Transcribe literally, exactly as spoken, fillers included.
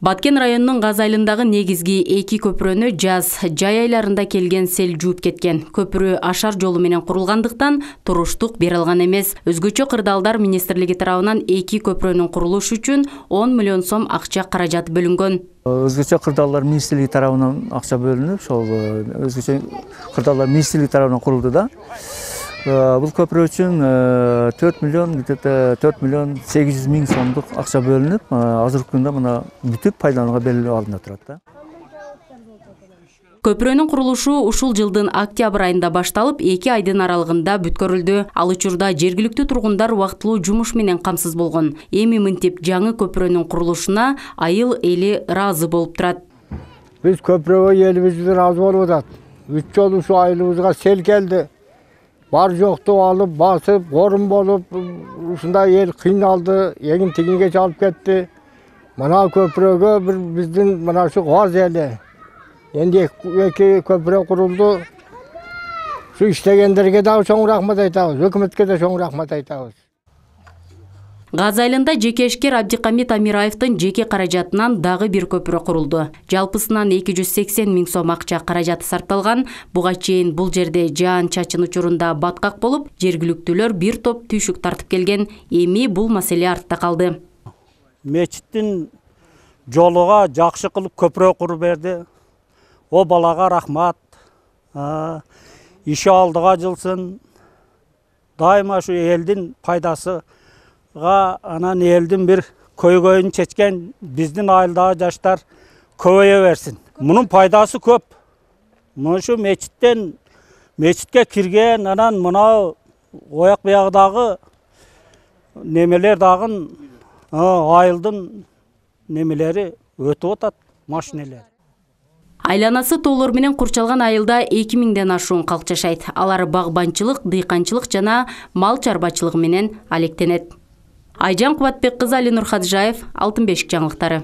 Баткен районунун Газ айылындагы негизги эки көпүрөнү жаз жай айларында келген сел жууп кеткен. Көпүрө ашар жолу менен курулгандыктан туруштук бере алган эмес. Өзгөчө кырдаалдар министрлиги тарабынан эки көпүрөнүн курулушу үчүн он миллион сом акча каражат бөлүнгөн. Өзгөчө кырдаалдар министрлиги тарабынан акча бөлүнүп, ошол өзгөчө кырдаалдар министрлиги тарабынан курулду да. Бул көпүрө үчүн төрт миллион где-то төрт миллион сегиз жүз миң сомдук акча бөлүнүп, азыркы күндө мына бүтүп пайдаланууга берилип алынып турат да. Көпүрөнүн курулушу ушул жылдын октябрь айында башталып, эки айдын аралыгында бүткөрүлдү. Ал учурда жергиликтүү тургундар убактылуу жумуш менен камсыз болгон. Эми мынтип жаңы көпүрөнүн курулушуна айыл эли ыраазы болуп турат. Биз көпүрөгө элибиз ыраазы болуп атат. Үч жолу ушу айылыбызга сел келди. Бар жокту алып, басып, корун болуп, ушундай эл кыйналды, эгин тигинге чалып кетти. Мына көпүрөгө бир биздин мына ушу Газ эли энди эки көпүрө курулду. Ушу иштегендерге да чоң рахмат айтабыз, өкмөткө да чоң рахмат айтабыз. Газ айылында жеке ишкер Абдикамит Амираевдин жеке каражатынан дагы бир көпүрө курулду. Жалпысынан эки жүз сексен миң сом акча каражаты сарпталган. Буга чейин бул жерде жаан чачын учурунда баткак болуп, жергиликтүүлөр бир топ түйшүк тартып келген. Эми бул маселе артта калды. Мечиттин жолуга жакшы кылып көпүрө куруп берди. О балага рахмат. Иши алдыга жылсын. Дайыма ушу элдин пайдасы анан элдин бир көйгөйүн чечкен биздин айылдагы жаштар көбөйө берсин. Мунун пайдасы көп. Мушу мечиттен мечитке кирген, анан мына ояк биягыдагы немелер дагы айылдын немелери өтүп атат, машинелер. Айланасы тоолор менен курчалган айылда эки миңден ашуун калк жашайт. Алар багбанчылык, дыйканчылык жана мал чарбачылыгы менен алектенет. Айжан Кубатбек кызы, Али Нурхаджаев, Алтын бешик жаңылыктары.